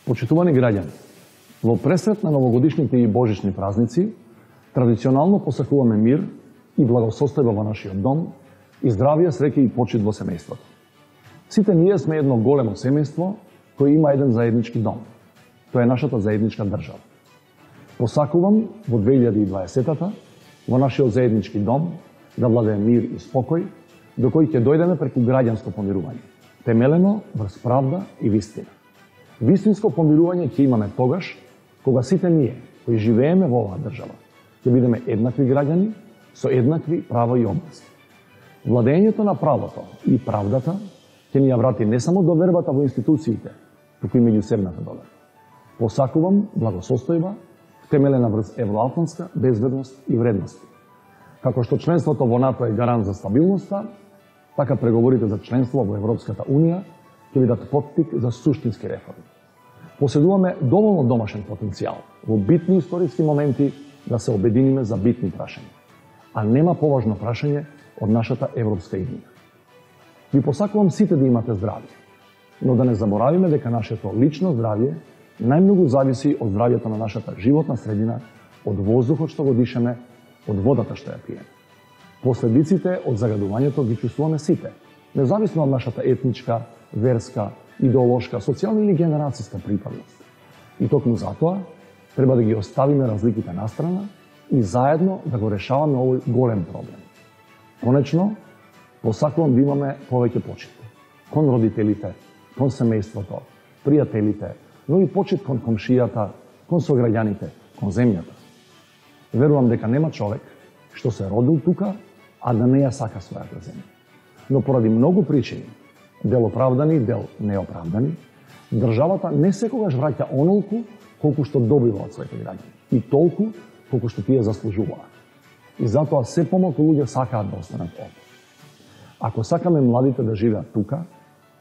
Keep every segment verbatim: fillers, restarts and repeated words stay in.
Почитувани граѓани, во пресрет на новогодишните и божични празници, традиционално посакуваме мир и благосостојба во нашиот дом и здравје, среќа и почит во семејството. Сите ние сме едно големо семејство кој има еден заеднички дом. Тоа е нашата заедничка држава. Посакувам во две илјади и дваесетата во нашиот заеднички дом да владее мир и спокој, до кој ќе дојдеме преку граѓанско помирување, темелено врз правда и вистина. Вистинско помирување ќе имаме тогаш кога сите ние кои живееме во оваа држава ќе бидеме еднакви граѓани со еднакви права и обврски. Владењето на правото и правдата ќе ни ја врати не само довербата во институциите, туку и меѓусебната доверба. Посакувам благосостојба втемелена врз евроатлантска безбедност и вредности. Како што членството во НАТО е гарант за стабилноста, така преговорите за членство во Европската Унија ќе бидат поттик за суштински реформи. Поседуваме доволно домашен потенцијал во битни историски моменти да се обединиме за битни прашања, а нема поважно прашање од нашата европска иднина. Ви посакувам сите да имате здравје, но да не заборавиме дека нашето лично здравје најмногу зависи од здравјето на нашата животна средина, од воздухот што го дишеме, од водата што ја пиеме. Последиците од загадувањето ги чувствуваме сите, независно од нашата етничка, верска, идеолошка, социјална или генерацијска припадност. И токму затоа треба да ги оставиме разликите настрана и заедно да го решаваме овој голем проблем. Конечно, посакувам да имаме повеќе почит кон родителите, кон семејството, пријателите, но и почит кон комшијата, кон сограѓаните, кон земјата. Верувам дека нема човек што се родил тука, а да не ја сака својата земја. Но поради многу причини, дел оправдани, дел неоправдани, државата не секогаш враќа онолку колку што добива од своите граѓани и толку колку што тие заслужуваат. И затоа се помалку луѓе сакаат да останат овде. Ако сакаме младите да живеат тука,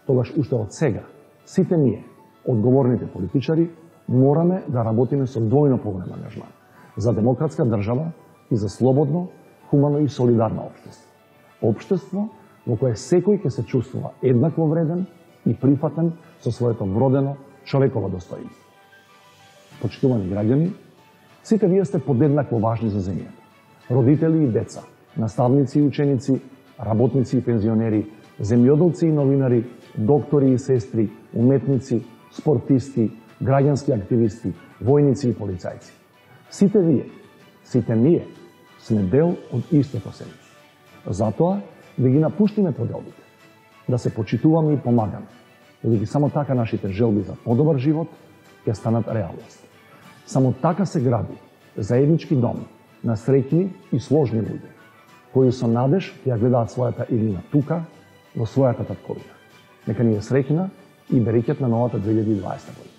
тогаш уште од сега сите ние, одговорните политичари, мораме да работиме со двојно поголем ангажман за демократска држава и за слободно, хумано и солидарно општество. Општество во кое секој ќе се чувствува еднакво вреден и прифатен со своето вродено човеково достоинство. Почитувани граѓани, сите вие сте подеднакво важни за земјата. Родители и деца, наставници и ученици, работници и пензионери, земјоделци и новинари, доктори и сестри, уметници, спортисти, граѓански активисти, војници и полицајци. Сите вие, сите ние сме дел од истото семејство. Затоа да ги напуштиме поделбите, да се почитуваме и помагаме, бидејќи само така нашите желби за подобар живот ќе станат реалност. Само така се гради заеднички дом на среќни и сложни луѓе, кои со надеж ќе ја гледаат својата иднина тука, во својата татковина. Нека ни е среќна и берекет на новата две илјади и дваесета година.